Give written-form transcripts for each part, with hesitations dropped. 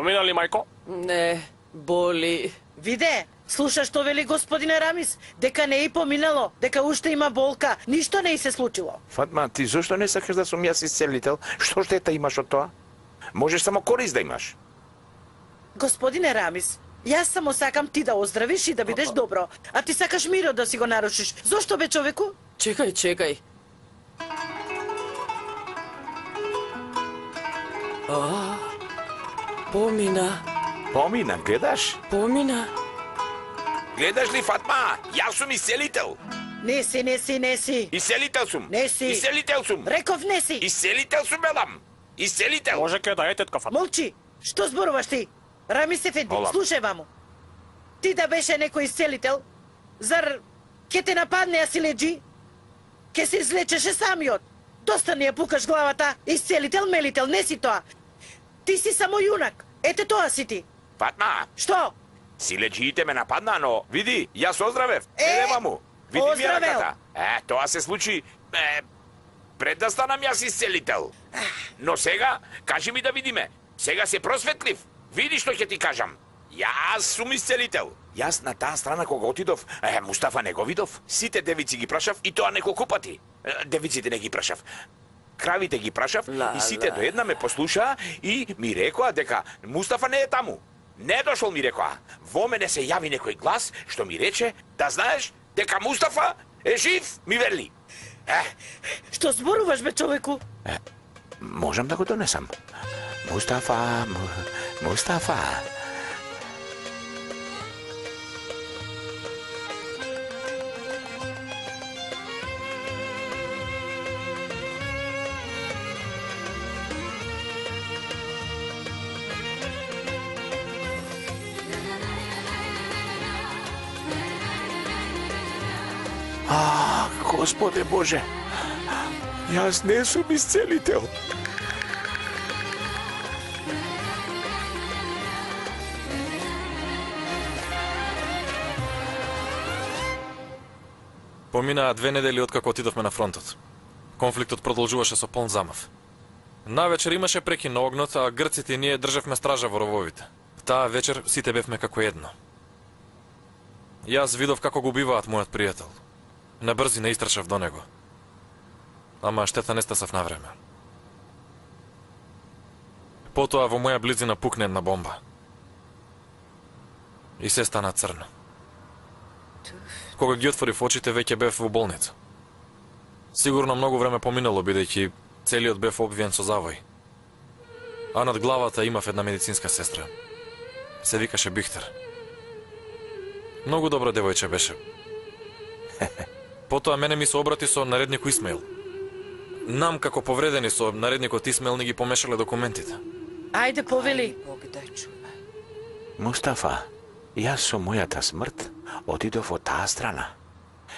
Помина ли, мајко? Не, боли. Виде, слушаш што вели господине Рамис, дека не и поминало, дека уште има болка, ништо не и се случило. Фатма, ти зошто не сакаш да сум јас исцелител? Што штета имаш од тоа? Можеш само корист да имаш. Господине Рамис, јас само сакам ти да оздравиш и да бидеш добро, а ти сакаш мирот да си го нарушиш. Зошто бе, човеку? Чекај. Помина. Помина, гледаш? Помина. Гледаш ли, Фатма? Јас сум исцелител. Не си. Исцелител сум. Не си. Исцелител сум. Реков не си. Исцелител сум, белам. Исцелител. Може ке да е тетка Фатма. Молчи. Што зборуваш ти? Рамис Ефенди, Олам. слушај ваму. Ти да беше некој исцелител, зар ке те нападне, а си лежи? Ке се излечеше самиот. Доста не ја пукаш главата. Исцелител, мелител, не си тоа. Ти си само јунак. Ете тоа си ти. Фатма, Што? силеџиите ме нападна, но види, јас оздравев. Е, му. Види ми оздравел. раката. Тоа се случи пред да станам јас исцелител. Но сега, кажи ми да видиме. Сега се просветлив. Види што ќе ти кажам. Јас сум исцелител. Јас на таа страна кога отидов, Мустафа не го видов. Сите девици ги прашав и тоа неколку пати. Девиците не ги прашав. Кравите ги прашав и сите до една ме послушаа и ми рекоа дека Мустафа не е таму. Не дошол, ми рекоа. Во мене се јави некој глас што ми рече да знаеш дека Мустафа е жив, ми вели. Што зборуваш, бе, човеку? Можам да го донесам. Мустафа. Господе Боже, јас не сум исцелител. Поминаа 2 недели откако отидовме на фронтот. Конфликтот продолжуваше со полн замав. Навечер имаше прекин на огнот, а грците и ние држевме стража во рововите. Таа вечер сите бевме како едно. Јас видов како го убиваат мојот пријател. Набрзи не истрчав до него. Ама штета не стасав на време. Потоа во моја близина пукне една бомба. И се стана црно. Кога ги отворив очите, веќе бев во болница. Сигурно многу време поминало, бидејќи целиот бев обвиен со завој. А над главата имав една медицинска сестра. Се викаше Бихтер. Многу добро девојче беше. Потоа мене ми се обрати со наредник Исмаил. Нам како повредени со наредникот Исмаил не ги помешале документите. Ајде, повели. Мустафа, јас со мојата смрт отидов од таа страна.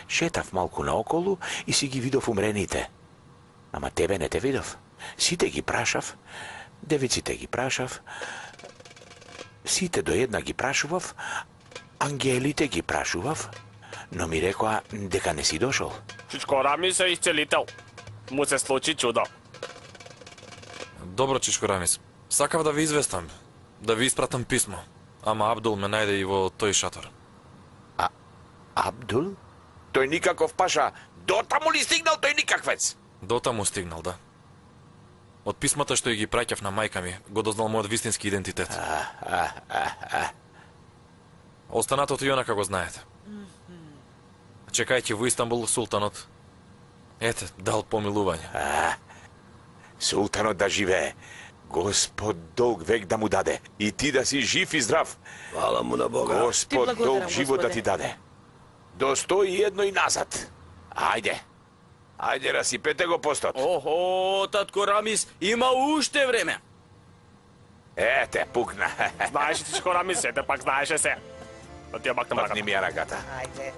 Шетав малку наоколу и си ги видов умрените. Ама тебе не те видов. Сите ги прашав, девиците ги прашав, сите до една ги прашував, ангелите ги прашував, но ми рекоа дека не си дошол. Чичко Рамис е исцелител. Му се случи чудо. Добро, Чичко Рамис. Сакав да ви известам, да ви испратам писмо. Ама Абдул ме најде и во тој шатор. Абдул? Тој никаков паша. Дотаму ли стигнал тој никаквец? Дотаму стигнал, да. Од писмата што ги праќав на мајка ми, го дознал мојот вистински идентитет. Останатото и онака го знаете. Чекајќи во Истанбул султанот, ете, дал помилување. Султанот да живее. Господ долг век да му даде. И ти да си жив и здрав. Фала му на Бога. Господ долг живот да ти даде. До 101 и назад. Ајде. Ајде, расипете го постот. Охо, татко Рамис, има уште време. Ете, пукна. Знаеш, Чичко Рамис, ете пак знаеше се. Да ти ја бакнем Пакни раката. ми ја раката. Ајде.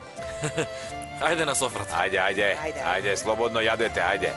Ајде на софрата. Ајде, слободно јадете, ајде.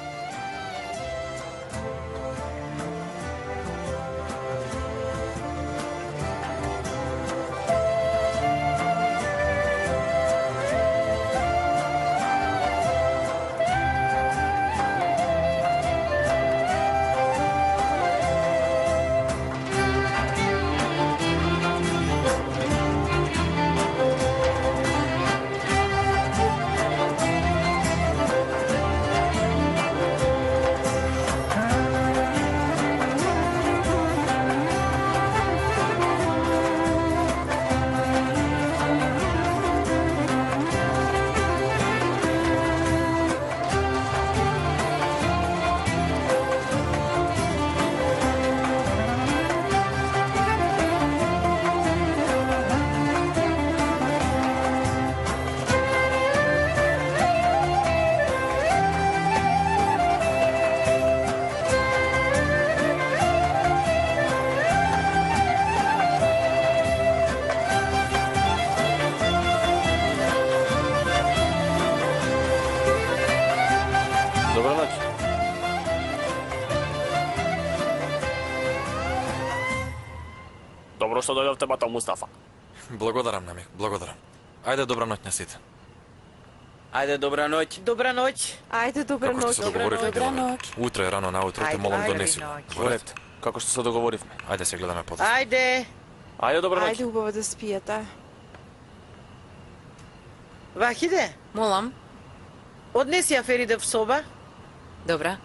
што дојдовте бато Мустафа. Благодарам, Намик, благодарам. Ајде, добра ноќ на сите. Ајде, добра ноќ. Добра ноќ. Ајде, добра Како што ноќ. се договоривме, Добра Гелове. ноќ. Утре рано наутро те Ајде, молам ајде, донеси. ноќ. Во ред. Уред, како што се договоривме. Ајде се гледаме подоцна. Ајде. Ајде, добра ноќ. Ајде, убаво да спиете. Вахиде, Молам. однеси ја Фериде в соба. Добра.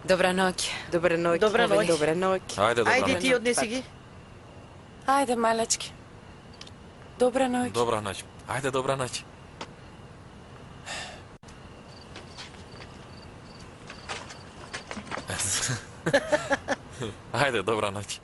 Добра ноќ. Добра ноќ. Добра ноќ. Добра ноќ. Ајде, добра Ајде ноќ. ти однеси ги. Ајде, малечки. Добра ноќ. Добра ноќ. Ајде, добра ноќ. Ајде, добра ноќ.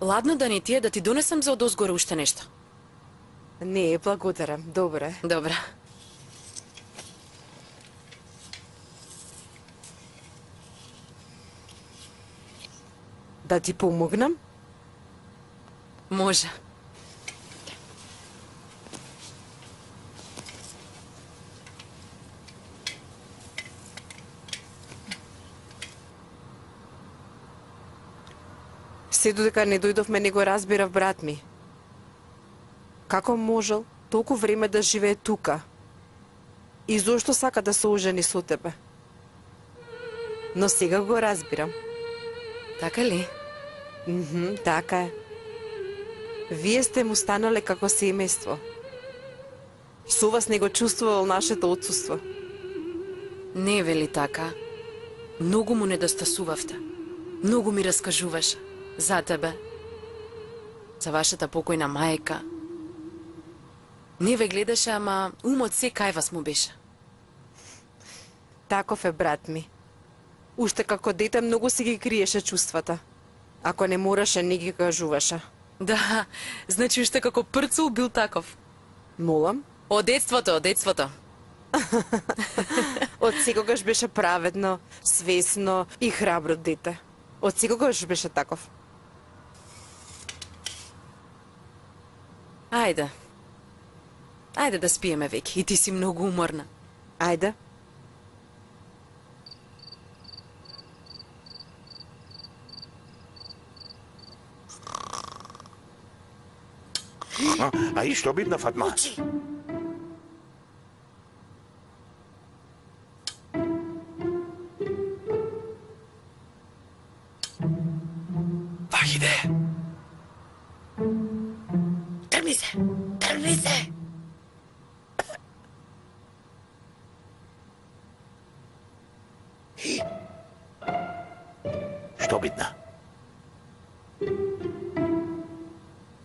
Ладно да не ти е да ти донесам за одозгоре уште нешто. Не, благодарам. Добре. Добра. Да ти помогнам? Може. Се додека не дојдовме, не го разбирав брат ми. Како можел толку време да живее тука? И зошто сака да се ожени со тебе? Но сега го разбирам. Така ли? Така е. Вие сте му станале како семејство. Со вас не го чувствувал нашето отсуство. Не вели така. Многу му недостасувавте. Многу ми раскажуваше. За тебе. За вашата покојна мајка. Не ве гледаше, ама умот се кај вас му беше. Таков е брат ми. Уште како дете многу си ги криеше чувствата. Ако не мораше, не ги кажуваше. Да, значи уште како прцул бил таков. Молам? Од детството, од детството. Од секогаш беше праведно, свесно и храбро дете. Од секогаш беше таков. Ајде. Ајде да спиеме веќе, и ти си многу уморна. Ајде. А и што бидна, Фатма? Учи. Вахиде. Тргни се. Тргни се. Што бидна?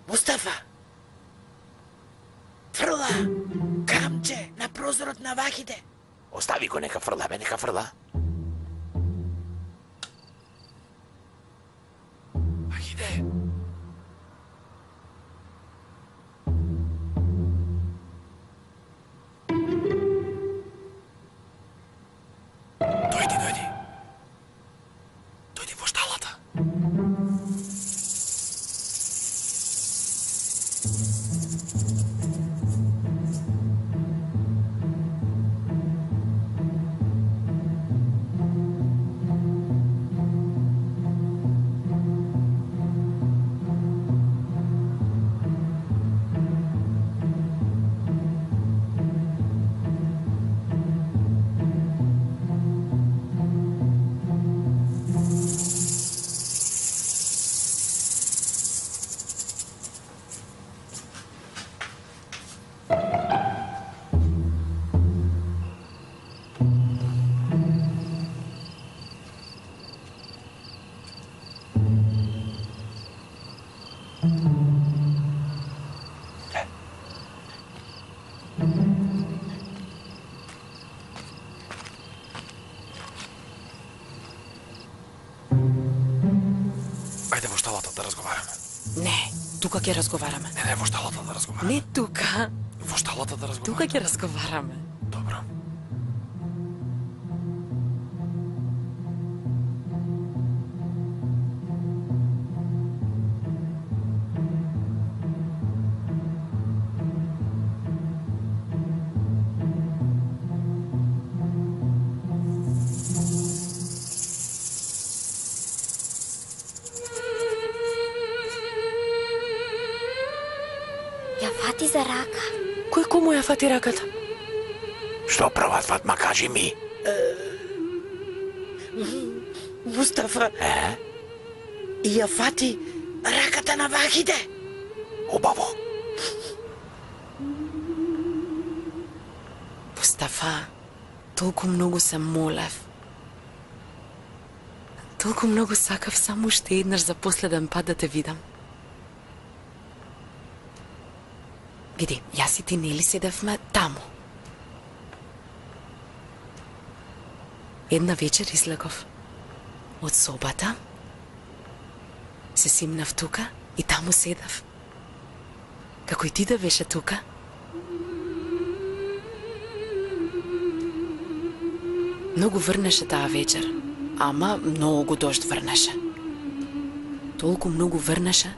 Мустафа. Фрла. Камче на прозорот на Вахиде. Остави го, нека фрла, бе, нека фрла. Вахиде. Дојди, дојди. Дојди во шталата. Ајде во шталата да разговараме. Не, тука ќе разговараме. Не, во шталата да разговараме. Не тука, Во шталата да разговараме. тука ќе разговараме. Добро. му ја фати раката? Што прават, Фатма, кажи ми? Мустафа, и ја фати раката на Вахиде. Убаво. Мустафа, толку многу се молев. Толку многу сакав само уште еднаш за последен пат да те видам. Види, јас и ти нели седевме таму. Една вечер излегов од собата, се симнав тука и таму седав. Како и ти да беше тука. Многу врнеше таа вечер, ама многу дожд врнеше. Толку многу врнеше,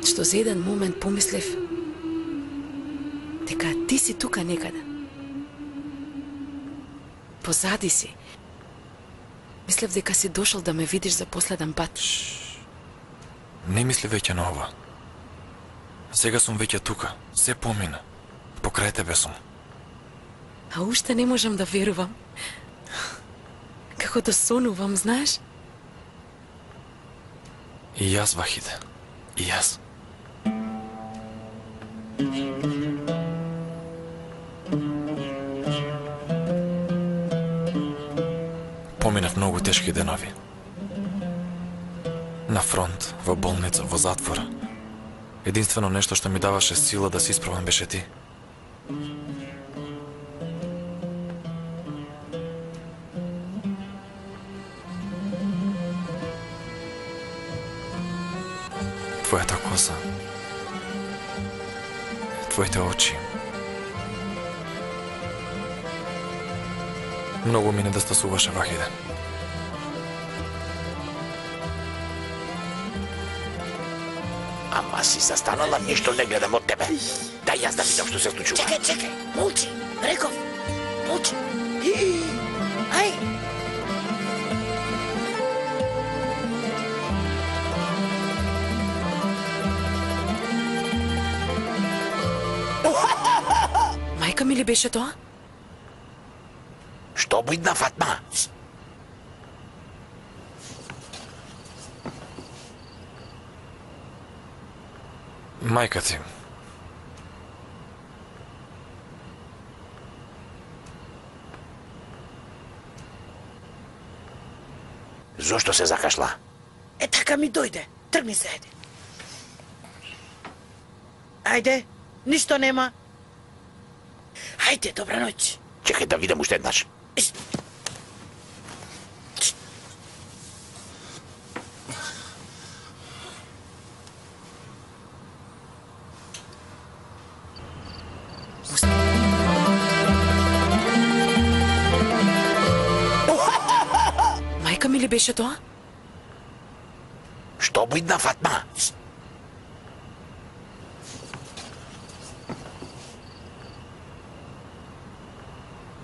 што за еден момент помислив дека ти си тука некаде. Позади си. Мислев дека си дошол да ме видиш за последен пат. Не мисли веќе на ова. Сега сум веќе тука, се помина. Покрај тебе сум. А уште не можам да верувам. Како да сонувам, знаеш? И јас, Вахиде. И јас. Поминав многу тешки денови. На фронт, во болница, во затвор. Единствено нешто што ми даваше сила да се исправам беше ти. Твојата коса. Твоите очи. Многу ми недостасуваше, Вахиде. Ама си застанала, ништо не гледам од тебе. Дај јас да видам што се случува. Чекај, молчи, реков, молчи. Ај! Мајка ми ли беше тоа? Што бидна, Фатма? Мајка ти. Зошто се закашла? Така ми дојде. Тргни се, ајде. Ајде, ништо нема. Ајде, добра ноќ. Чекај да видам уште еднаш. Мајка ми ли беше тоа? Што бидна, Фатма?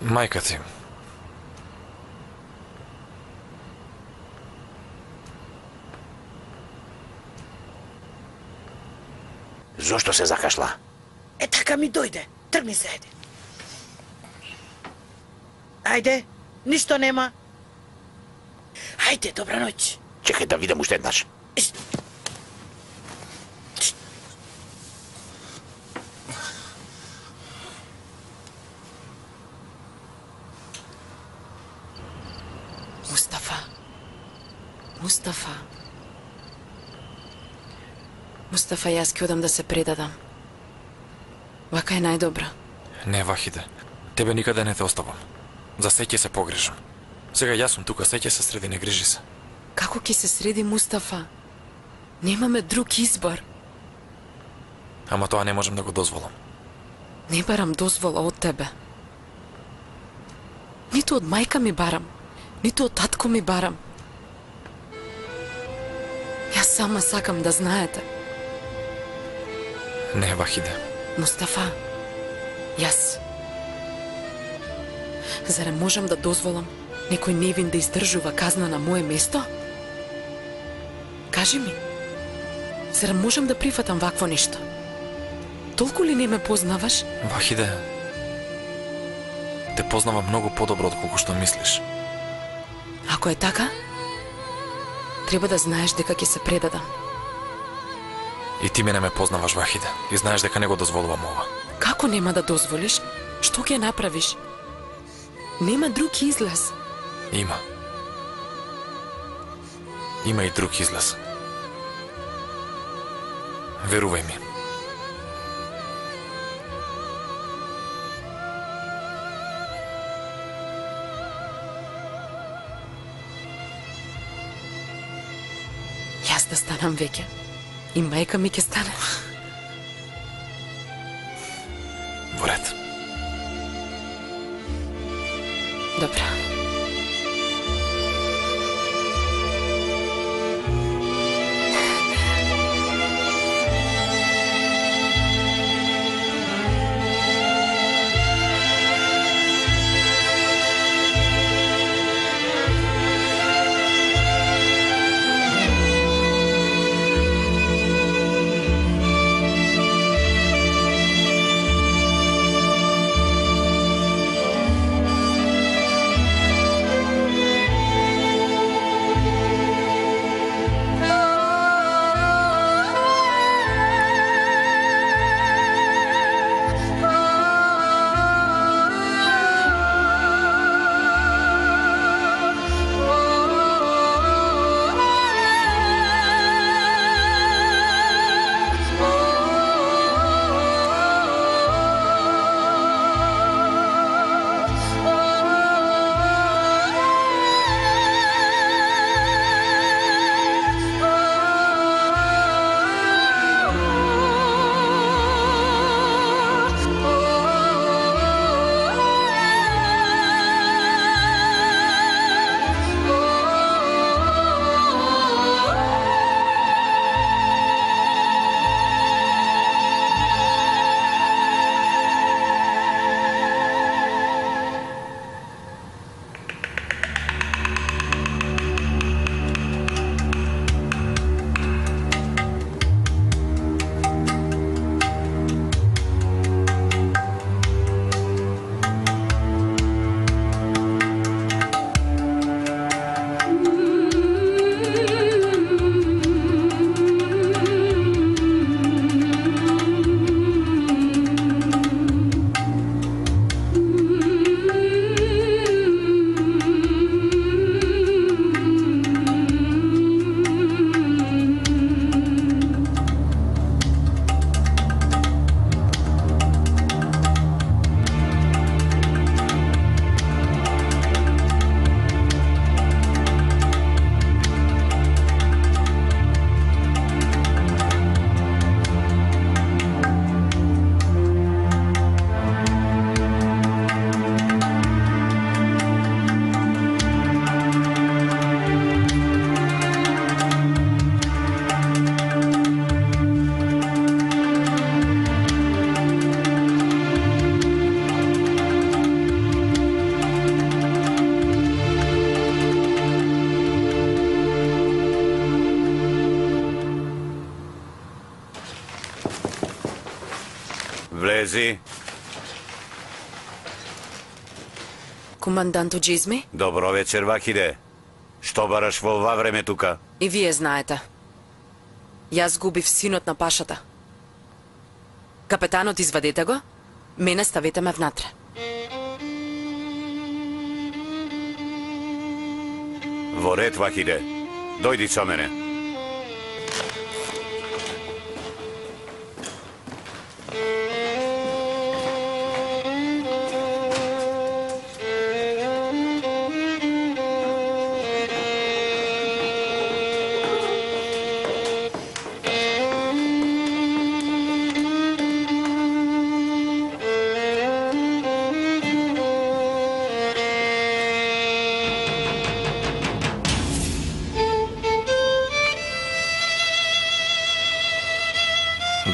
Мајка ти. Зошто се закашла? Така ми дојде. Тргни се, ајде. Ајде, ништо нема. Ајде, добра ноќ. Чекај да видам уште еднаш. Мустафа, јас ќе одам да се предадам. Вака е најдобро. Не, Вахиде. Тебе никаде не те оставам. За се ќе се погрижам. Сега јас сум тука, се ќе се среди, не грижи се. Како ќе се среди, Мустафа? Немаме друг избор. Ама тоа не можам да го дозволам. Не барам дозвола од тебе. Ниту од мајка ми барам, ниту од татко ми барам. Јас сама сакам да знаете. Не, Вахиде. Мустафа, јас. Зарем можам да дозволам некој невин да издржува казна на мое место? Кажи ми, Зар можам да прифатам вакво нешто? Толку ли не ме познаваш? Вахиде, те познавам многу подобро од колку што мислиш. Ако е така, треба да знаеш дека ќе се предадам. И ти мене ме познаваш, Вахиде, и знаеш дека не го дозволувам ова. Како нема да дозволиш? Што ќе направиш? Нема друг излаз. Има. Има и друг излаз. Верувај ми. Јас да станам веќе. И мајка ми ќе стане. Во ред. Добро. Влези. Команданто Джизми? Добро вечер, Вахиде. Што бараш во ова време тука? И вие знаете. Јас губив синот на пашата. Капетанот, извадете го, мене ставете ме внатре. Во ред, Вахиде. Дојди со мене.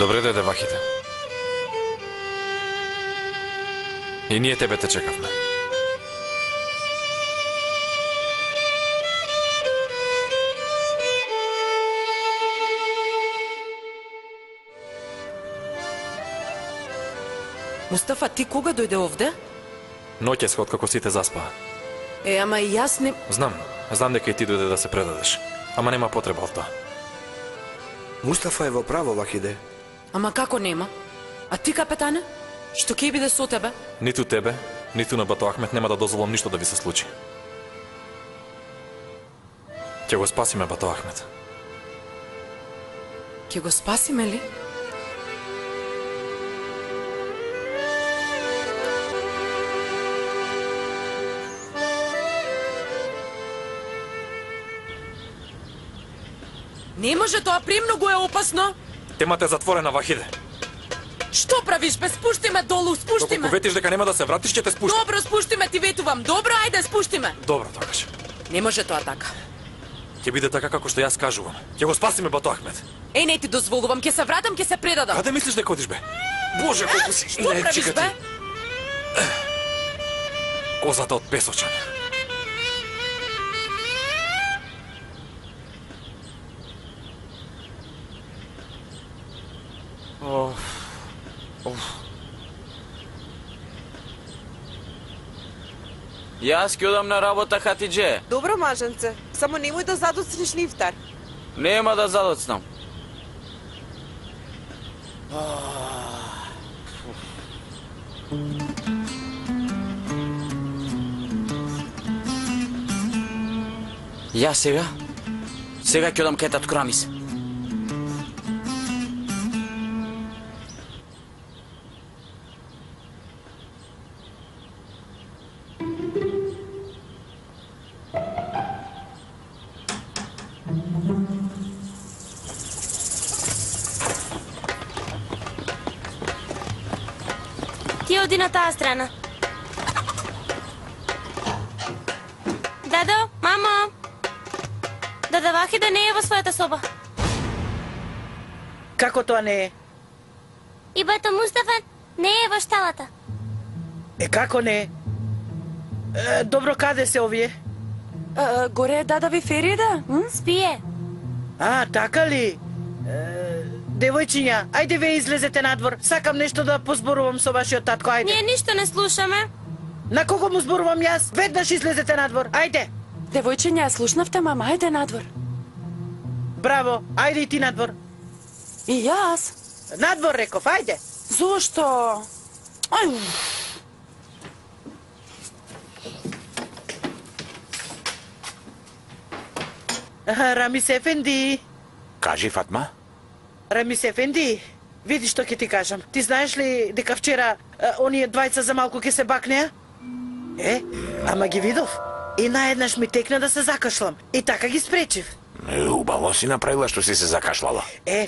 Добре дојде, Вахиде. И ние тебе те чекавме. Мустафа, ти кога дојде овде? Ноќес откако сите заспаа. Ама и јас не... Знам дека и ти дојде да се предадеш. Ама нема потреба од тоа. Мустафа е во право, Вахиде. Ама како нема? А ти, капетане? Што ќе биде со тебе? Ниту тебе, ниту на Бато Ахмет нема да дозволам ништо да ви се случи. Ќе го спасиме Бато Ахмет. Ќе го спасиме ли? Не може, тоа премногу е опасно. Темата е затворена, Вахиде. Што правиш, бе? Спушти ме долу, спушти ме. Доколку ветиш дека нема да се вратиш, ќе те спуштам. Добро, спушти ме, ти ветувам. Добро, ајде, спушти ме. Добро, тогаш. Не може тоа така. Ќе биде така како што јас кажувам. Ќе го спасиме Бато Ахмет. Не ти дозволувам, ќе се вратам, ќе се предадам. Каде мислиш дека одиш, бе? Боже, колку си... Што правиш, бе? Козата од Песочан. Јас ќе одам на работа, Хатидже. Добро, маженце. Само немој да задоцниш лифтар. Нема да задоцнам. Јас сега ќе одам кај татко Рамис. Ти оди на таа страна. Дадо, мамо! Дада Вахида не е во својата соба. Како тоа не е? И бата Мустафа не е во шталата. Како не е? Добро, каде се овие? Горе е дада ви Ферида? Спие. Така ли? Девојчиња, ајде ве излезете надвор. Сакам нешто да позборувам со вашиот татко, ајде. Ние ништо не слушаме. На кого му зборувам јас? Веднаш излезете надвор, ајде. Девојчиња, слушнавте, мама, ајде надвор. Браво, ајде и ти надвор. И јас. Надвор, реков, ајде. Зошто? Ај. Рамис Ефенди. Кажи, Фатма. Рамис Ефенди, види што ќе ти кажам. Ти знаеш ли дека вчера оние двајца за малку ќе се бакнеа? Ама ги видов. И наеднаш ми текна да се закашлам. И така ги спречив. Убаво си направила што си се закашлала.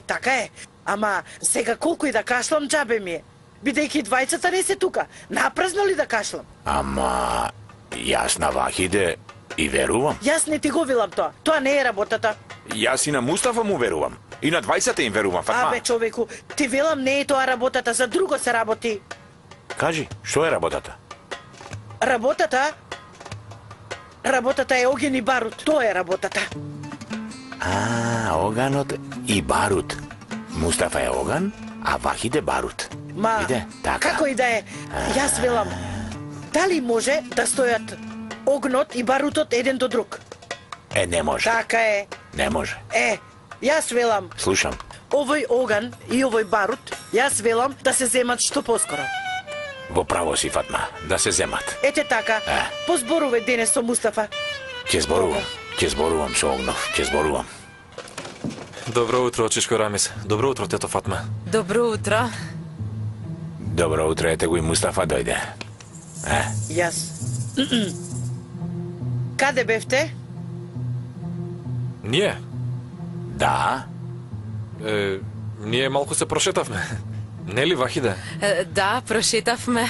Така е. Ама сега колку и да кашлам, џабе ми е. Бидејќи двајцата не се тука. Напразно ли да кашлам? Ама јас на Вахиде и верувам. Јас не ти го велам тоа. Тоа не е работата. Јас и на Мустафа му верувам. И на двајцата им верувам, Фатма. Човеку, ти велам не е тоа работата, за друго се работи. Кажи, што е работата? Работата е оген и барут. Тоа е работата. Оганот и барут. Мустафа е оган, а Вахиде барут. Иде, така. Како и да е, јас велам, дали може да стојат огнот и барутот еден до друг? Не може. Така е. Не може. Јас велам. Слушам. Овој оган и овој барут, јас велам да се земат што поскоро. Во право си, Фатма, да се земат. Така. Позборувај денес со Мустафа. Ќе зборувам со Огнов, ќе зборувам. Добро утро, очишко Рамис. Добро утро, тето Фатма. Добро утро. Добро утро, ете го и Мустафа дојде. Јас. Каде бевте? Ние? Да. Ние малку се прошетавме. Нели, Вахиде? Да, прошетавме.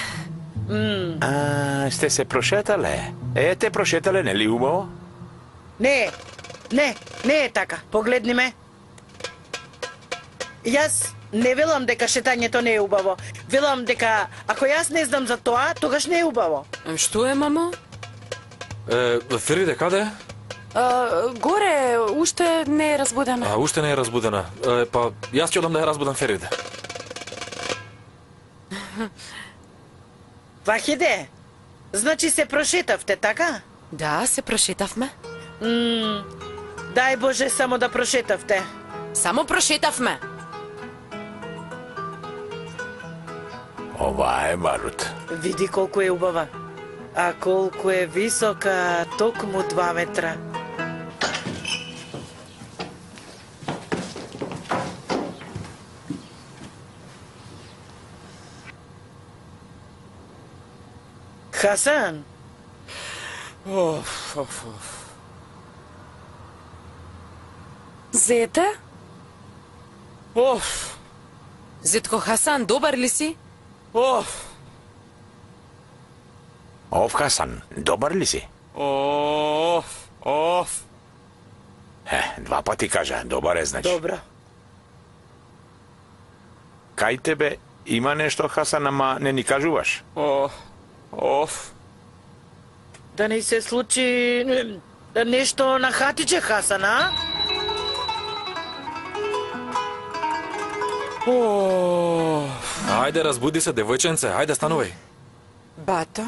Сте се прошетале? Те прошетале, нели убаво? Не е така. Погледни ме. Јас не велам дека шетањето не е убаво. Велам дека ако јас не знам за тоа, тогаш не е убаво. Што е, мамо? Фериде, каде е? Горе, уште не е разбудена. Уште не е разбудена. Па, јас ќе одам да ја разбудам Фериде. Вахиде, значи се прошетавте, така? Да, се прошетавме. Дај Боже само да прошетавте. Само прошетавме. Ова е барут. Види колку е убава. А колку е висока, токму 2 метра. Хасан, Зете? Зетко Хасан, добар ли си? Ов Хасан, добар ли си? Два пати кажа, добар е значи. добро. Кај тебе има нешто, Хасан, ама не ни кажуваш? Да не се случи нешто на хатиче, Хасан, а? Ајде, разбуди се, девојченце, ајде, станувај. Бато,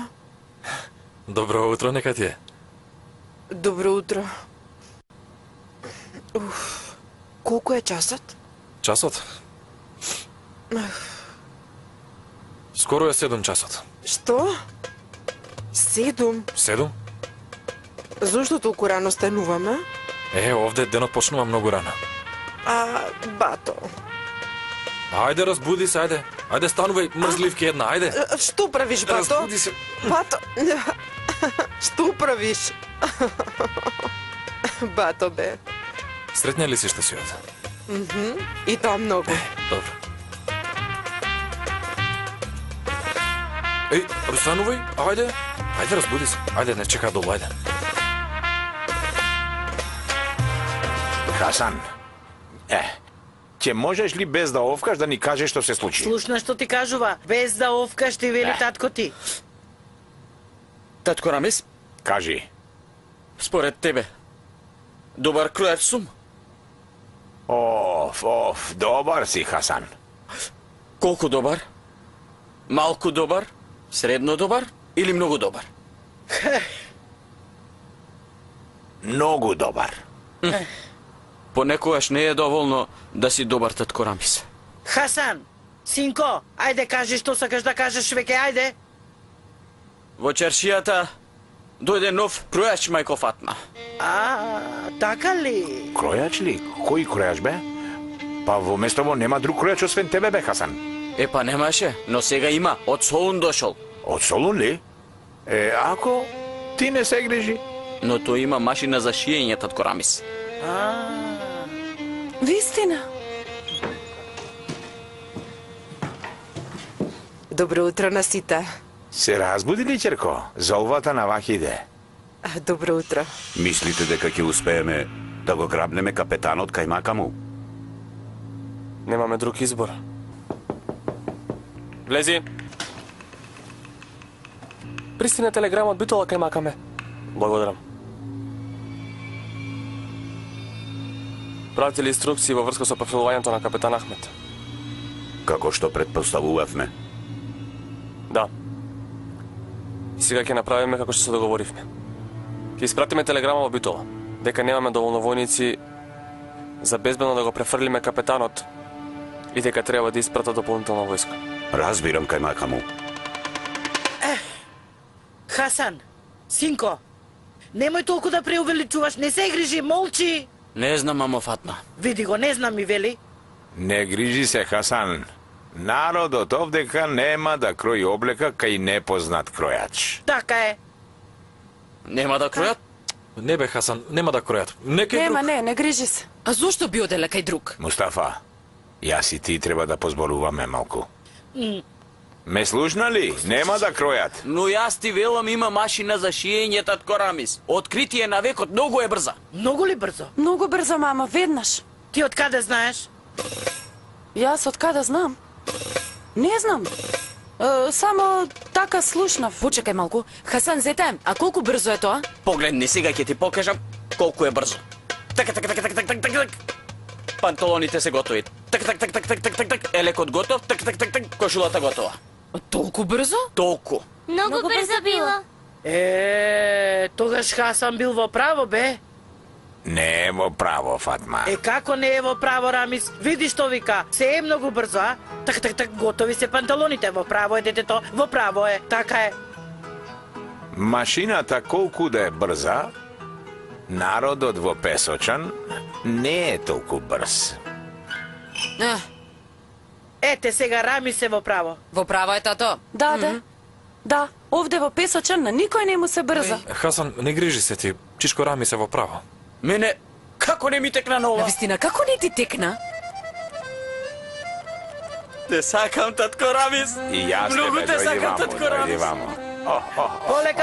Добро утро, нека ти е. добро утро. Колку е часот? Часот? Скоро е 7 часот. Што? 7? 7? Зошто толку рано стануваме? Овде денот почнува многу рано. Бато. Ајде, разбуди се, ајде. Ајде, станувај, мрзливки една, ајде. Што правиш, Бато? Разбуди се. Бато, што правиш? Бато, бе. Сретна ли си што си од? И тоа многу. Добро. Станувај, ајде. Ајде, разбуди се. Ајде, не чека долу, ајде. Хасан, ќе можеш ли без да овкаш да ни кажеш што се случи? Слушна што ти кажува, без да овкаш ти вели татко ти. Татко Рамис, Кажи. според тебе, добар кројач сум? Добар си, Хасан. Колку добар? Малку добар? Средно добар? Или многу добар? Многу добар. Понекогаш не е доволно да си добар, татко Рамис. Хасан, синко, ајде кажи што сакаш да кажеш веќе, ајде. Во чаршијата дојде нов кројач, мајко Фатма. Така ли? Кројач ли? Кој кројач, бе? Па во местово нема друг кројач освен тебе, бе, Хасан. Па немаше, но сега има, од Солун дошол. Од Солун ли? Ако ти не се грижи. Но тој има машина за шиење, татко Рамис. Вистина. Добро утро на сите. Се разбуди ли, ќерко? Золвата на Вахиде. Добро утро. Мислите дека ќе успееме да го грабнеме капетанот кај мака му? Немаме друг избор. Влези. Пристигна телеграма од Битола кај мака ме. Благодарам. Пратили инструкции во врска со профилувањето на капетан Ахмет. Како што предпоставувавме. Да. И сега ќе направиме како што се договоривме. Ќе испратиме телеграма во Битола, дека немаме доволно војници за безбедно да го префрлиме капетанот и дека треба да испратат дополнителна војска. Разбирам кај мака му. Хасан, синко, немој толку да преувеличуваш, не се грижи, молчи. Не знам, мамо Фатма. Види го, не знам ми вели. Не грижи се, Хасан. Народот овдека нема да крои облека кај непознат кројач. Така е. Нема да кројат? Не бе, Хасан, нема да кројат. Некај друг. Не грижи се. А зошто би оделе кај друг? Мустафа, јас и ти треба да позборуваме малку. Ме слушна ли? Нема да кројат. Но јас ти велам има машина за шиење, татко Рамис. Откритие на векот, многу е брза. Многу ли брзо? Многу брзо, мама, веднаш. Ти од каде знаеш? Јас од каде знам? Не знам. Само така слушнав. Почекај малку. Хасан, зете, а колку брзо е тоа? Погледни, сега ќе ти покажам колку е брзо. Така, така, така, така, така, така. Панталоните се готови. Так, так, так, так, так, так, так, так. Елекот готов. Так, так, так, так. Кошулата готова. Толку брзо? Толку. Многу брзо било. Тогаш Хасан бил во право, бе. Не е во право, Фатма. Како не е во право, Рамис? Види што вика, се е многу брзо, а? Так, готови се панталоните, во право е детето, во право е, така е. Машината колку да е брза, народот во Песочан не е толку брз. Ете сега Рамис е во право. Во право е тато. Да, овде во Песочан на никој не му се брза. Хасан, не грижи се ти. Чичко Рамис е во право. Мене, како не ми текна на ова? Навистина, како не ти текна? Те сакам, татко Рамис. И јас Многу тебе, те дојди сакам, вамо, татко дојди Рамис. вамо.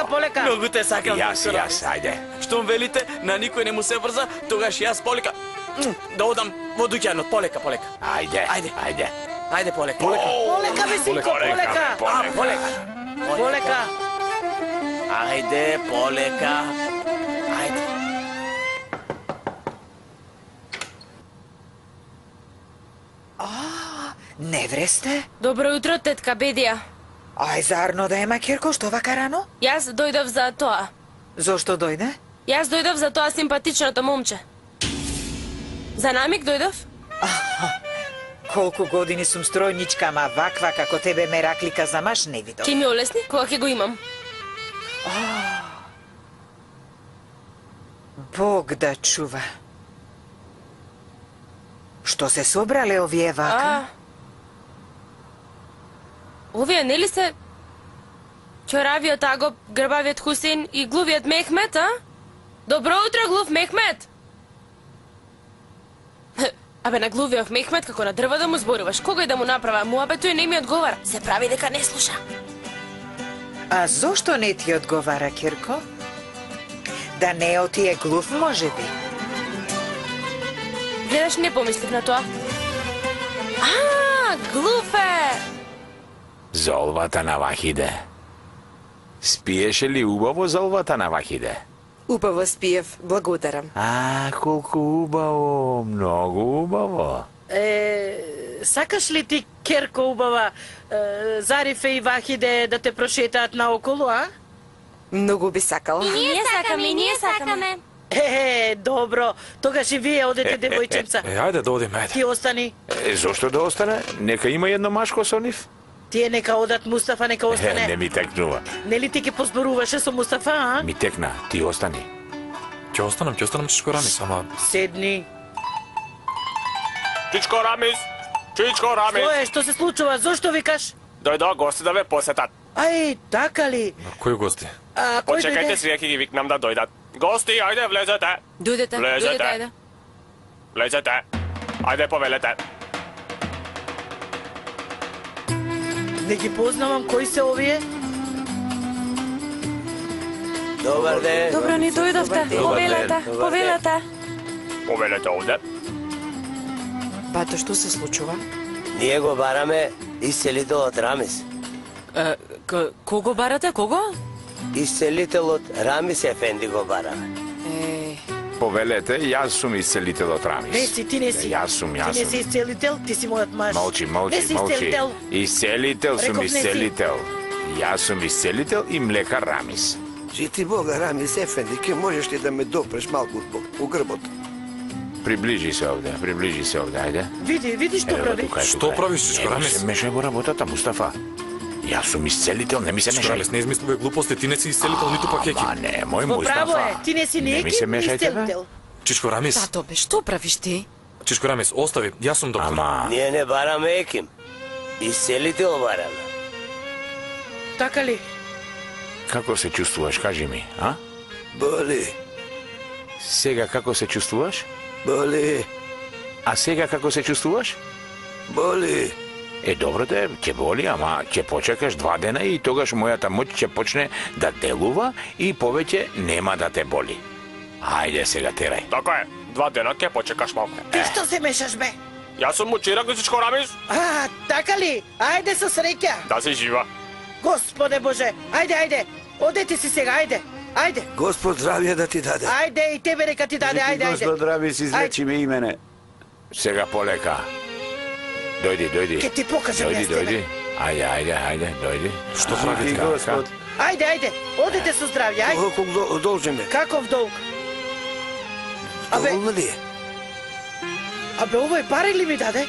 Полека. Многу те сакам, татко Рамис. Ајде. Штом велите, на никој не му се брза, тогаш јас полека. Да одам во дуќанот, полека. Ајде. Ајде, полека. Полека, бе, синко, полека. Полека. Ајде, полека. Ајде. Не вресте? Добро утро, тетка Бедија. Ај, зарно да ема, Кирко, што вака рано? Јас дојдов за тоа. Зошто дојде? Јас дојдов за тоа симпатичното момче. За намик дојдов? Колку години сум стројничка, ама ваква како тебе ме раклика за маш не видов. Ке ми олесни, кога ќе го имам. Бог да чува. Што се собрале овие вака? Овие нели се Ќоравиот Агоп, грбавиот Хусин и глувиот Мехмет, а? Добро утро, глув Мехмет! Абе, на глувиот Мехмет, како на дрво да му зборуваш, кога и да му направа, муабе тој не ми одговара. Се прави дека не слуша. А зошто не ти одговара, Кирко? Да не отие глув, може би. Гледаш, не помислив на тоа. Глув е! Золвата на Вахиде. Спиеше ли убаво золвата на Вахиде? Убаво спиев, благодарам. Колку убаво, многу убаво. Сакаш ли ти, Керко убава, Зарифе и Вахиде да те прошетаат наоколу, а? Многу би сакала. И ние сакаме. Добро. Тогаш и вие одете, девојченца. Ајде да одиме, ајде. Ти остани. Зошто да остане? Нека има едно машко со нив. Тие нека одат, Мустафа нека остане. Не ми текнува. Нели ти ке позборуваше со Мустафа, а? Ми текна, ти остани. Ќе останам, Чичко Рамис, ама... Седни. Чичко Рамис! Чичко Рамис! Што е, што се случува? Зошто викаш? Дојдоа гости да ве посетат. Ај, така ли? Кои гости? Кој Почекајте, дојде? сега ќе ги викнам да дојдат. Гости, ајде, влезете. Дојдете, ајде. Влезете. Ајде, повелете. Не ги познавам, кои се овие? Добар ден. Добро ни дојдовте. Повелете. Повелете овде. Бато, што се случува? Ние го бараме исцелителот Рамис. Кого барате, кого? Исцелителот Рамис Ефенди го бараме. Повелете, јас сум исцелителот Рамис. Не си, ти не си. Јас сум. Ти не си исцелител, ти си мојот маж. Молчи. Не си исцелител. Исцелител сум Реков не си. исцелител. Јас сум исцелител и млекар Рамис. Жити Бога, Рамис Ефенди, ке можеш ли да ме допреш малку по грбот? Приближи се овде, ајде. Види што прави. Што правиш, Чичко Рамис? Не мешај во работата, Мустафа. Јас сум исцелител, не ми се Чичко мешај. Рамис, не измислувај глупости, ти не си исцелител, ниту пак екип. Не, мој Во право Мустафа. е, ти не си ни Не ми екип, се ни мешајте, бе. исцелител. Чичко Рамис, Тато, бе, што правиш ти? Чичко Рамис, остави, јас сум доктор. Ама, Ние не бараме еким. Исцелител бараме. Така ли? како се чувствуваш, кажи ми, а? Боли, Сега како се чувствуваш? боли, А сега како се чувствуваш? боли. Добро те, ќе боли, ама ќе почекаш 2 дена и тогаш мојата моќ ќе почне да делува и повеќе нема да те боли. Ајде сега терај. Така е, 2 дена ќе почекаш малку. Ти што се мешаш, бе? Јас сум мучирак, Чичко Рамис. Така ли? Ајде со среќа. Да си жива. Господе Боже, ајде. Одете си сега, ајде. Господ здравје да ти даде. Ајде и тебе нека ти даде, ајде. Господ Рамис, излечи ме и мене. Сега полека. Дојди. Ке ти покажам јас тебе. Ајде, дојди. Што правите? Господ, Ајде, одите со здравје, ајде. колку должен ме? Каков долг? Абе, Доволно ли е? абе, овој пари ли ми даде?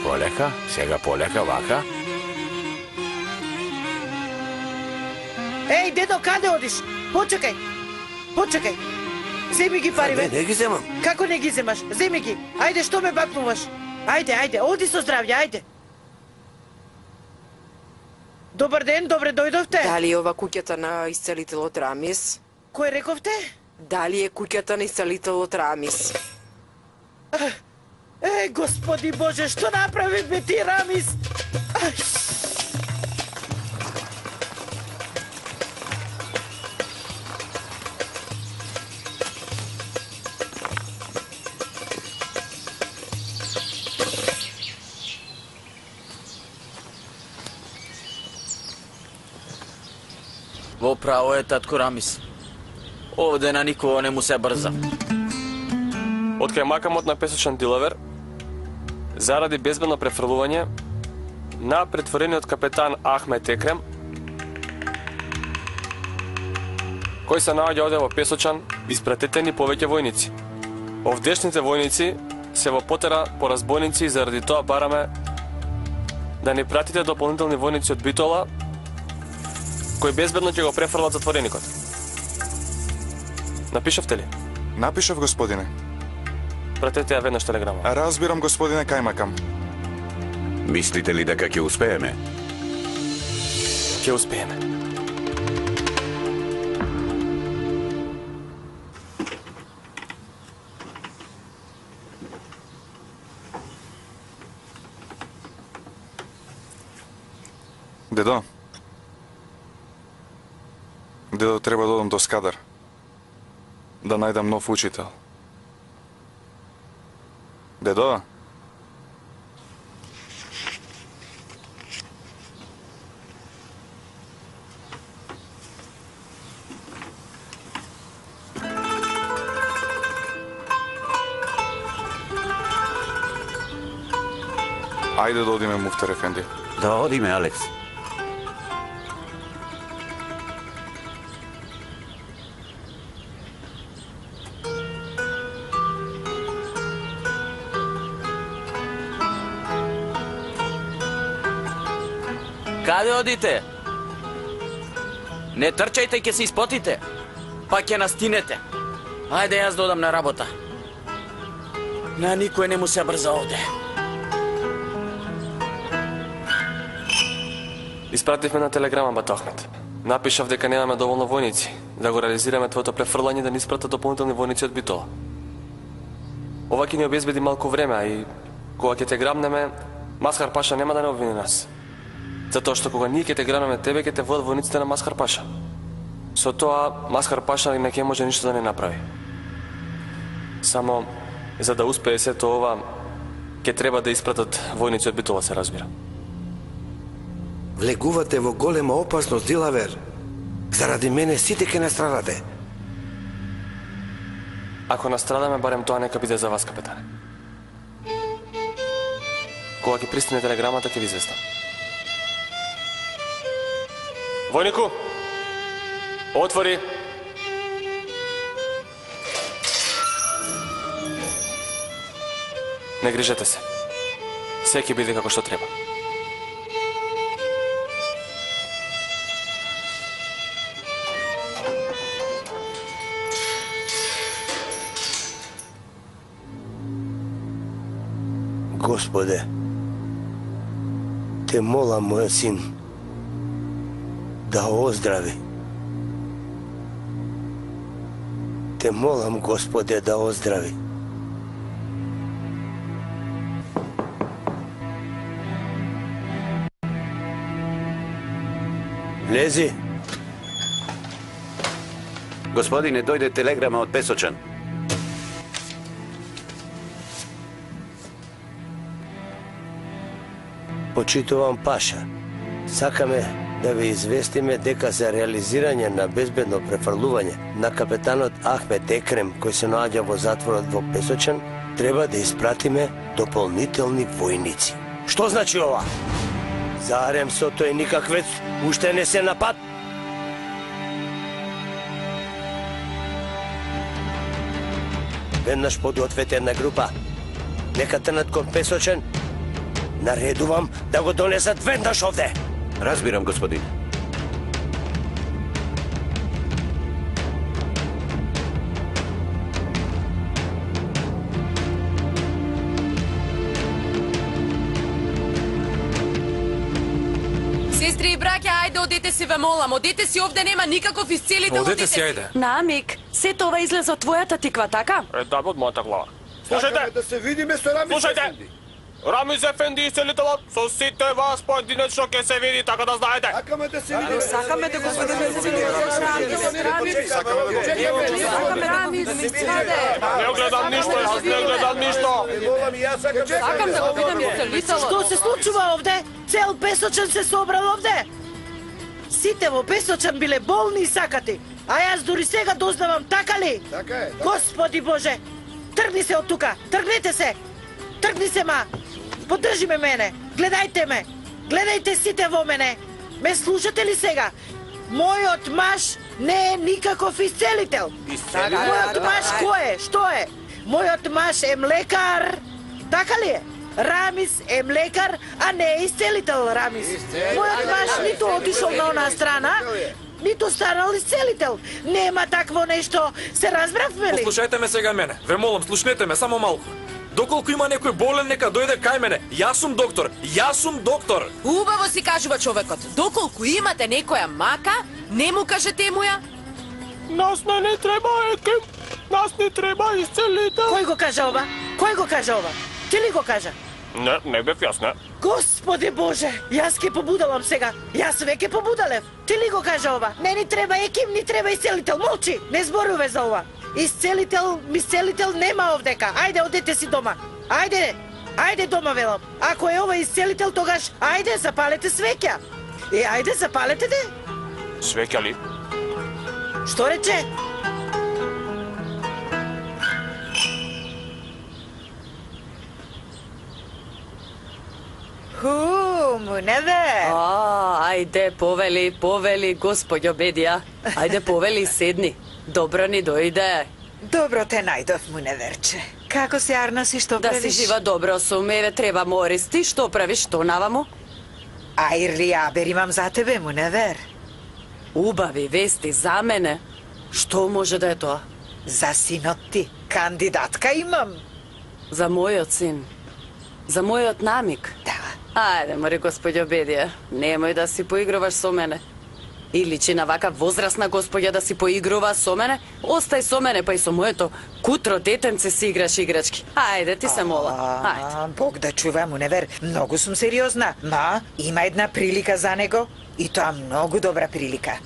Полека, сега полека, вака. Еј, дедо, каде одиш? Почекај. Земи ги париве. Не ги земам. Како не ги земаш? Земи ги. Ајде, што ме бакнуваш? Ајде, оди со здравје, ајде. Добар ден, добре дојдовте. Дали е ова куќата на исцелителот Рамис? Кој рековте? Дали е куќата на исцелителот Рамис? Господи Боже, што направи бе ти, Рамис? Во право е татко Рамис. Овде на никого не му се брза. Од кај макамот на песочен дилавер, заради безбедно префрлување на претворениот капетан Ахмет Екрем, кој се наоѓа овде во Песочан, испратетени повеќе војници. Овдешните војници се во потера по разбойници и заради тоа бараме да ни пратите дополнителни војници од Битола, кои безбедно ќе го префрлат затвореникот. Напишавте ли? Напишав, господине. Пратете ја веднаш телеграма. Разбирам, господине, кајмакам. Мислите ли дека ќе успееме? Ќе успееме. Дедо. Дедо, треба да одам до Скадар. Да најдам нов учител. Дедо? Ајде да одиме, Муфтар ефенди. Да одиме, Алекс. Каде одите? Не трчајте, ќе се испотите. Па ќе настинете. Ајде јас додам на работа. На никој не му се брза овде. Испративме на телеграма, бат Ахмет. Напишав дека немаме доволно војници, да го реализираме твоето префрлање да ни испратат дополнителни војници од Битола. Ова ќе ни обезбеди малку време, а и кога ќе те грабнеме, Масхар Паша нема да не обвини нас. Затоа што кога ние ќе те грабнеме тебе, ќе те водат војниците на Масхар Паша. Со тоа, Масхар Паша не ќе може ништо да не направи. Само, за да успее сето ова, ќе треба да испратат војници од Битола, се разбира. Влегувате во голема опасност, Дилавер. Заради мене сите ќе настрадате. Ако настрадаме, барем тоа нека биде за вас, капетане. Кога ќе пристигне телеграмата, ќе ви известам. Војнику, отвори. Не грижете се. Се ќе биде како што треба. Господе, те молам мојот син да оздрави. Те молам, Господе, да оздрави. Влези. Господине, дојде телеграма од Песочан. Почитувам Паша. Сакаме да ви известиме дека за реализирање на безбедно префрлување на капетанот Ахмет Екрем, кој се наоѓа во затворот во Песочан, треба да испратиме дополнителни војници. Што значи ова? Зарем со тој никаквец уште не се напад? Веднаш подгответе една група. Нека трнат кон Песочен. Наредувам да го донесат веднаш овде. Разбирам, господин. Сестри и браќа, ајде одете си, ве молам, одете си, овде нема никаков исцелител, Одете си, ајде. Намик, се тоа излезе од твојата тиква, така? Да, од мојата глава. Слушајте! Да се видиме со Рамис Слушајте! Ефенди. Рамис Ефенди исцелителот, со сите вас поединечно ќе се види, така да знаете. Сакаме да се видиме. Сакаме да го видиме. Не гледам ништо, јас не гледам ништо. Сакам да го видам исцелителот. Што се случува овде? Цел Песочен се собрал овде. Сите во Песочен биле болни и сакати. А јас дури сега дознавам, така ли? Така е. Господи Боже, тргни се од тука, тргнете се. Тргни се, ма. Поддржи ме мене. Гледајте ме. Гледајте сите во мене. Ме слушате ли сега? Мојот маж не е никаков исцелител. Мојот маж кој е? Што е? Мојот маж е млекар. Така ли е? Рамис е млекар, а не е исцелител, Рамис. Мојот маж ниту отишол на онаа страна, ниту станал исцелител. Нема такво нешто. Се разбравме ли? Послушајте ме сега мене. Ве молам, слушнете ме само малку. Доколку има некој болен, нека дојде кај мене. Јас сум доктор. Јас сум доктор. Убаво си кажува човекот. Доколку имате некоја мака, не му кажете му ја. Нас не треба еким. Нас не треба исцелител. Кој го кажа ова? Кој го кажа ова? Ти ли го кажа? Не бев јас, не. Господи Боже, јас ке побудалам сега. Јас веќе побудалев. Ти ли го кажа ова? Не ни треба еким, ни треба исцелител. Молчи, не зборуве за ова. Исцелител нема овдека. Ајде, одете си дома. Ајде, ајде дома, велам. Ако е ова исцелител, тогаш ајде, запалете свеќа. Ајде, запалете де. Свеќа ли? Што рече? Муневе. Ајде, повели, господјо Бедија. Ајде, повели, седни. Добро ни дојде. Добро те најдов, Муневерче. Како се Арнас и што Да правиш? си жива добро сум, еве треба Морис. Ти што правиш, што наваму? Ајрли, абер имам за тебе, Муневер. Убави вести за мене. Што може да е тоа? За синот ти. Кандидатка имам. За мојот син. За мојот намик. Да. Ајде, мори господјо Бедија, немој да си поигруваш со мене. И личи на вака возрастна господја да си поигрува со мене, остај со мене, па и со моето кутро детенце си играш играчки. Ајде, ти се мола. Ајде. Бог да чува, Муневер, многу сум сериозна. Ма, има една прилика за него, и тоа многу добра прилика.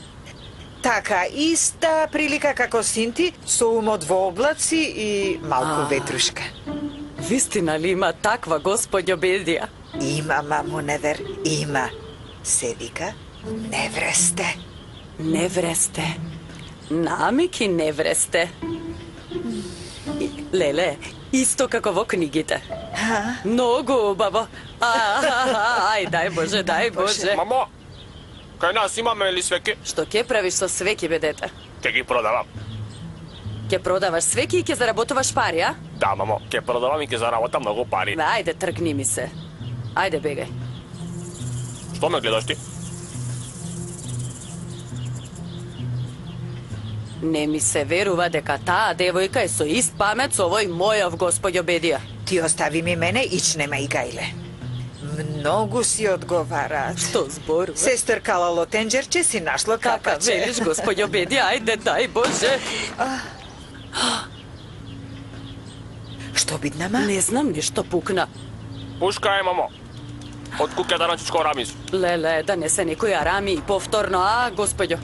Така, иста прилика како син ти, со умот во облаци и малку ветрушка. Вистина ли има таква господјо Бедија? Има, Муневер, има. Се вика Невресте. Невресте. Намик и Невресте. Леле, исто како во книгите. Многу убаво. Ај, дај Боже, дај Боже. Мамо, кај нас имаме ли свеки? Што ќе правиш со свеки, бе дете? Ќе ги продавам. Ќе продаваш свеки и ќе заработуваш пари, а? Да, мамо, ќе продавам и ќе заработам многу пари. Ајде, тргни ми се. Ајде, бегај. Што ме гледаш ти? Не ми се верува дека таа девојка е со ист памет со овој мојов господјо Бедија. Ти остави ми мене, ичнема и гајле. Многу си одговараат. Што зборува? Сестркала Лотенџерче си нашло Така капаче. велиш, господјо Бедија, ајде, дај Боже. Што бидна, ма? Не знам ништо пукна. Пушка е, мамо. Од куќа Даранчичко Рамис. Леле, да не се некој Арами и повторно, а, господјо?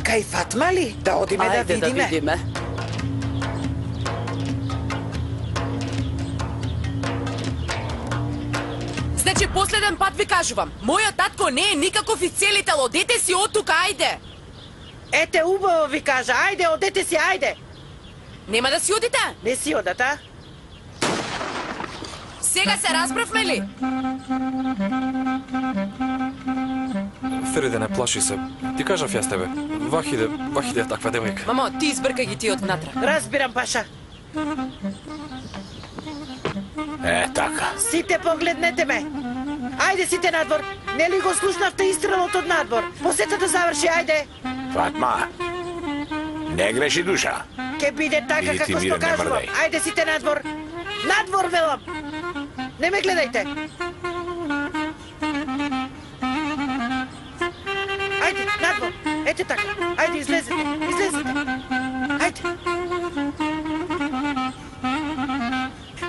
Кај Фатма ли? Да одиме да Ајде видиме. да видиме. Значи, последен пат ви кажувам, мојот татко не е никаков исцелител, одете си од тука, ајде. Ете, убаво ви кажа, ајде, одете си, ајде. Нема да си одите? Не си одат, а? Сега се расправме ли? Фериде, не плаши се. Ти кажав јас тебе. Вахиде е таква девојка. Мамо, ти избркај ги тие од внатре. Разбирам, Паша. Така. Сите погледнете ме. Ајде сите надвор. Нели го слушнавте истрелот од надвор? Посета да заврши, ајде. Фатма, не греши душа. Ке биде така Иди ти, како Мире, што не кажувам. мрдај. Ајде сите надвор. Надвор, велам. Не ме гледајте. Ајде, надвор. Ете така. Ајде, излезете. Излезете. Ајде.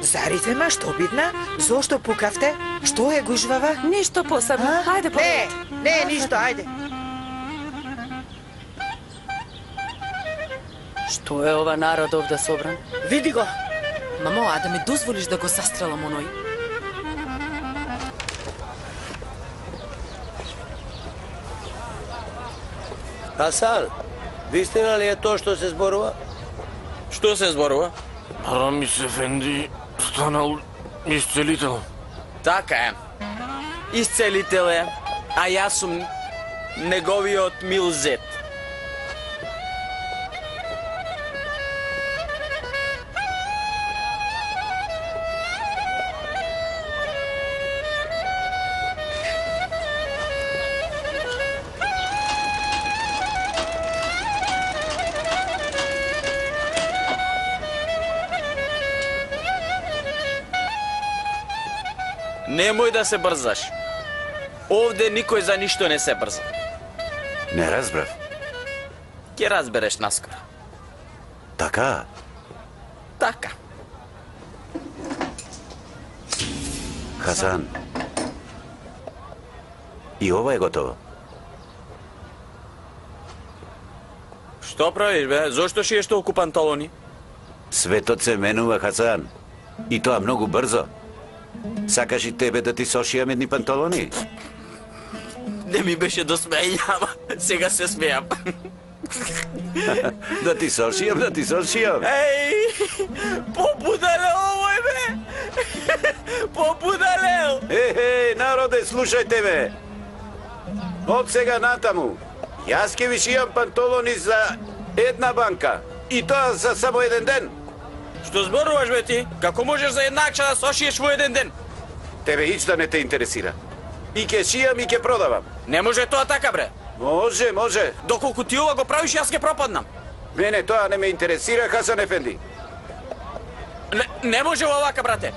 Заритема, што бидна? Зошто пукавте? Што е гужвава? Ништо посебно. Ајде, Не, ништо, ајде. Што е ова народ овде собран? Види го. Мамо, а да ми дозволиш да го застрелам оној? Хасан, вистина ли е тоа што се зборува? Што се зборува? Рамис Ефенди станал исцелител. Така е. Исцелител е, а јас сум неговиот мил зет. Немој да се брзаш. Овде никој за ништо не се брза. Не разбрав. Ќе разбереш наскоро. Така? Така. Хасан. И ова е готово. Што правиш, бе? Зошто шиеш толку панталони? Светот се менува, Хасан. И тоа многу брзо. Сакаш и тебе да ти сошијам едни панталони? Не ми беше до смење, ама сега се смејам. Да ти сошијам, да ти сошијам. Еј, побудале овој, бе! Побудале! Народе, слушајте ме. Од сега натаму, јас ќе ви шијам панталони за една банка. И тоа за само еден ден. Што зборуваш, бе, ти? Како можеш за еднакча да сошиеш во еден ден? Тебе ичта не те интересира. И ќе шијам и ќе продавам. Не може тоа така, бре. Може, може. Доколку ти ова го правиш, јас ќе пропаднам. Мене тоа не ме интересира, Хасан Ефенди. Не може овака, брате.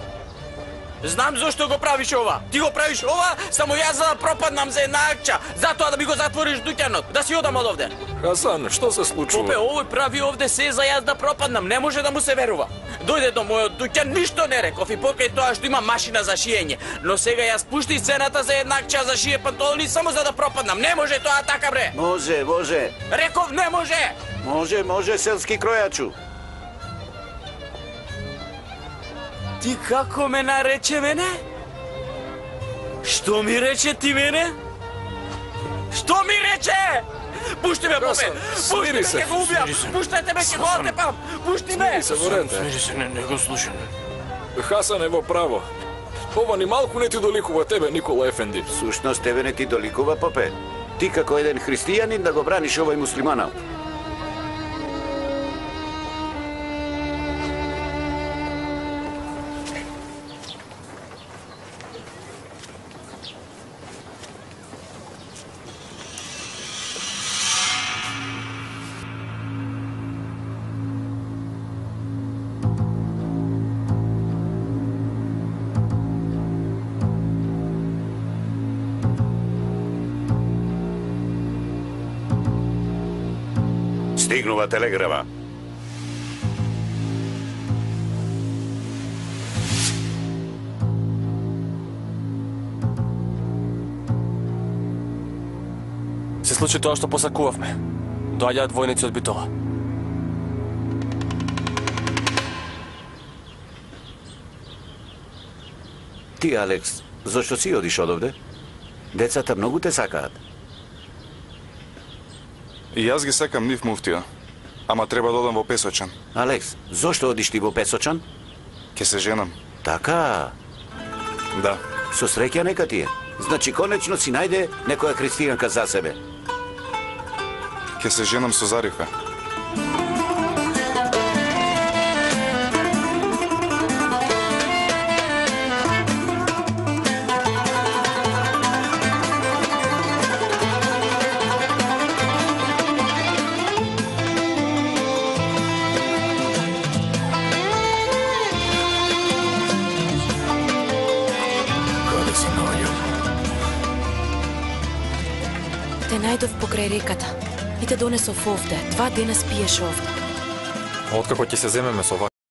Знам зошто го правиш ова. Ти го правиш ова, само јас за да пропаднам за една акча. Затоа да ми го затвориш дуќанот, да си одам од овде. Хасан, што се случува? Попе, овој прави овде се за јас да пропаднам, не може да му се верува. Дојде до мојот дуќан, ништо не реков и покрај тоа што има машина за шиење. Но сега јас пушти цената за една акча за шие панталони само за да пропаднам. Не може тоа така, бре. Може, може. Реков не може. Може, може, селски кројачу. Ти како ме нарече мене? Што ми рече ти мене? Што ми рече? Пушти ме, попе! Пушти ме, ќе го убијам! Пуштете ме, ќе го отепам! Пушти ме! Смири се, не го слушам. Хасан е во право. Ова ни малку не ти доликува тебе, Никола Ефенди. Сушност тебе не ти доликува, попе. Ти како еден христијанин да го браниш овој муслиманал. Стигнува телеграма. Се случи тоа што посакувавме. Доаѓаат војници од Битола. Ти, Алекс, зашто си одиш од овде? Децата многу те сакаат. И јас ги сакам нив, муфтија. Ама треба да одам во Песочан. Алекс, зошто одиш ти во Песочан? Ке се женам. Така. Да. Со среќа нека ти е. Значи, конечно си најде некоја христијанка за себе. Ке се женам со Зарифа. Те најдов покрај реката и те донесов овде. 2 дена спиеш овде. Откако ќе се земеме со